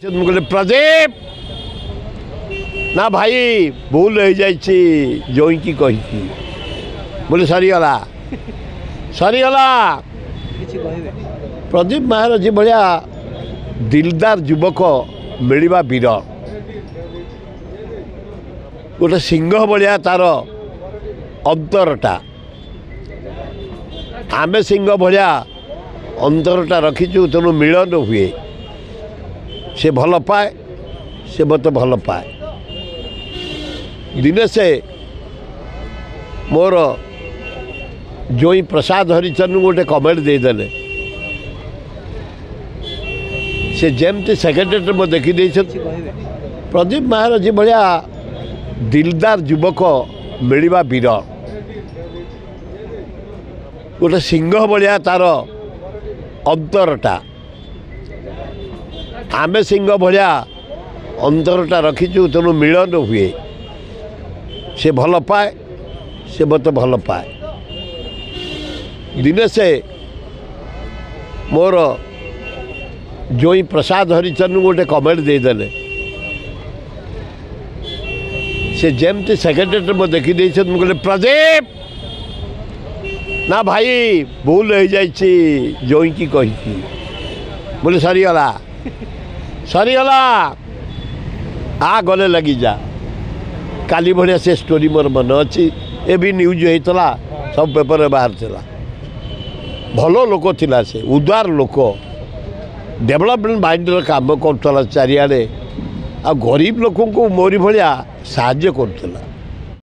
ମୁଁ କହିଲି ପ୍ରଦୀପ ନା ଭାଇ ଭୁଲ ହେଇଯାଇଛି ଜୋଇଁକି କହିକି ବୋଲି ସରିଗଲା ସରିଗଲା। ପ୍ରଦୀପ ମାହାର ଭଳିଆ ଦିଲଦାର ଯୁବକ ମିଳିବା ବିରଳ। ଗୋଟେ ସିଂହ ଭଳିଆ ତାର ଅନ୍ତରଟା, ଆମେ ସିଂହ ଭଳିଆ ଅନ୍ତରଟା ରଖିଛୁ, ତେଣୁ ମିଳନ ହୁଏ। ସେ ଭଲ ପାଏ, ସେ ମୋତେ ଭଲ ପାଏ। ଦିନେ ସେ ମୋର ଜୋଇଁ ପ୍ରସାଦ ହରିଚନ୍ଦନଙ୍କୁ ଗୋଟେ କମେଣ୍ଟ ଦେଇଦେଲେ। ସେ ଯେମିତି ସେକ୍ରେଟେରୀରେ ମୁଁ ଦେଖିଦେଇଛନ୍ତି। ପ୍ରଦୀପ ମାହାର ଭଳିଆ ଦିଲଦାର ଯୁବକ ମିଳିବା ବିରଳ। ଗୋଟେ ସିଂହ ଭଳିଆ ତାର ଅନ୍ତରଟା, ଆମେ ସିଂହ ଭଳିଆ ଅନ୍ତରଟା ରଖିଛୁ, ତେଣୁ ମିଳନ ହୁଏ। ସେ ଭଲ ପାଏ, ସେ ମୋତେ ଭଲ ପାଏ। ଦିନେ ସେ ମୋର ଜୋଇଁ ପ୍ରସାଦ ହରିଚନ୍ଦନଙ୍କୁ ଗୋଟେ କମେଣ୍ଟ ଦେଇଦେଲେ। ସେ ଯେମିତି ସେକ୍ରେଟେରୀରେ ମୁଁ ଦେଖିଦେଇଛନ୍ତି। ମୁଁ କହିଲି ପ୍ରଦୀପ ନା ଭାଇ ଭୁଲ ହେଇଯାଇଛି ଜୋଇଁକି କହିକି ବୋଲି ସରିଗଲା ସରିଗଲା। ଆ ଗଲେ ଲାଗିଯା। କାଲି ଭଳିଆ ସେ ଷ୍ଟୋରି ମୋର ମନେ ଅଛି, ଏ ବି ନ୍ୟୁଜ୍ ହେଇଥିଲା, ସବୁ ପେପରରେ ବାହାରିଥିଲା। ଭଲ ଲୋକ ଥିଲା ସେ, ଉଦାର ଲୋକ, ଡେଭଲପମେଣ୍ଟ ମାଇଣ୍ଡର କାମ କରୁଥିଲା ଚାରିଆଡ଼େ, ଆଉ ଗରିବ ଲୋକଙ୍କୁ ମୋରି ଭଳିଆ ସାହାଯ୍ୟ କରୁଥିଲା।